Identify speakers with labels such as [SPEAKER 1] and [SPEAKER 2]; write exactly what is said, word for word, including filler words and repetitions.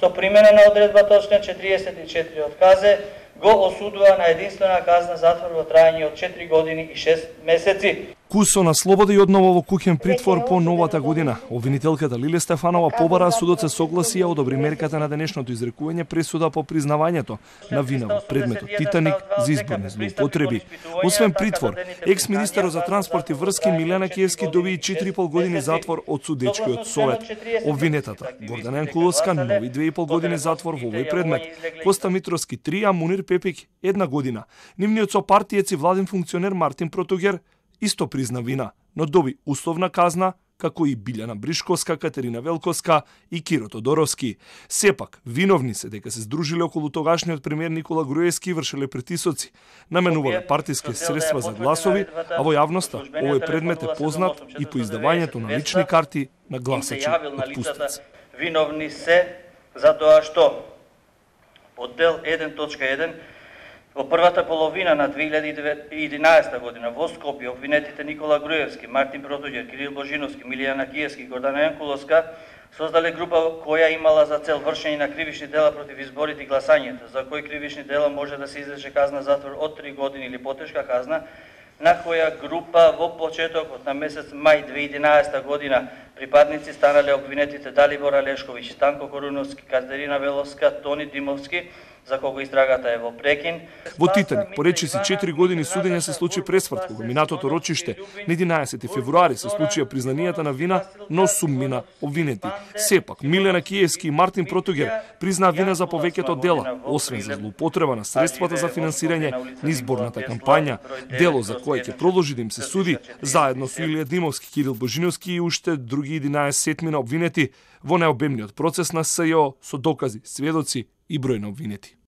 [SPEAKER 1] со примена на одредбата од член четириесет и четири од КАЗЕ, го осудува на единствена казна затвор во траење од четири години и шест месеци.
[SPEAKER 2] Кусо на слобода и одново во куќен притвор по новата година. Обвинителката Лиле Стефанова побара судот се согласи ја одобри мерката на денешното изрекување пресуда по признавањето на вина во предметот Титаник за изборни злоупотреби. Освен притвор, екс-министерот за транспорт и врски Милена Киевски доби и четири и пол години затвор од судечкиот совет. Обвинетата Гордана Јанкуловска нови две и пол години затвор во овој предмет. Коста Митровски три, а Мунир Пепик една година. Нивниот сопартиец и владин функционер Мартин Протугер исто призна вина, но доби условна казна, како и Билјана Бришковска, Катерина Велковска и Киро Тодоровски. Сепак, виновни се дека се здружиле околу тогашниот премиер Никола Груевски и вршеле притисоци, наменувале партиски средства за гласови, а во јавноста овој предмет е познат и по издавањето на лични карти на гласачи од пустици.
[SPEAKER 1] Виновни се за тоа што од дел еден точка еден во првата половина на две илјади и единаесета година во Скопје обвинетите Никола Груевски, Мартин Протугер, Кирил Божиновски, Милијана Киевски и Гордана Јанкуловска создале група која имала за цел вршење на кривични дела против изборите и гласањето, за кои кривични дела може да се изрече казна затвор од три години или потешка казна, на која група во почетокот на месец мај две илјади и единаесета година припадници станале обвинетите Далибор Алешковиќ, Станко Коруновски, Катерина Веловска, Тони Димовски, за кого истрагата е во прекин.
[SPEAKER 2] Во Титаник, по речиси четири години судење се случи пресврт, кога минатото рочиште на единаесети февруари се случија признанијата на вина, но суммина обвинети. Сепак, Милена Киевски и Мартин Протугер признаа вина за повеќето дела, освен за злоупотреба на средствата за финансирање на изборната кампања, дело за кое ќе продолжи да им се суди, заедно со Илија Димовски, Кирил Божиновски и уште други единаесетмина обвинети во најобемниот процес на СЈО со докази, сведоци и број на обвинети.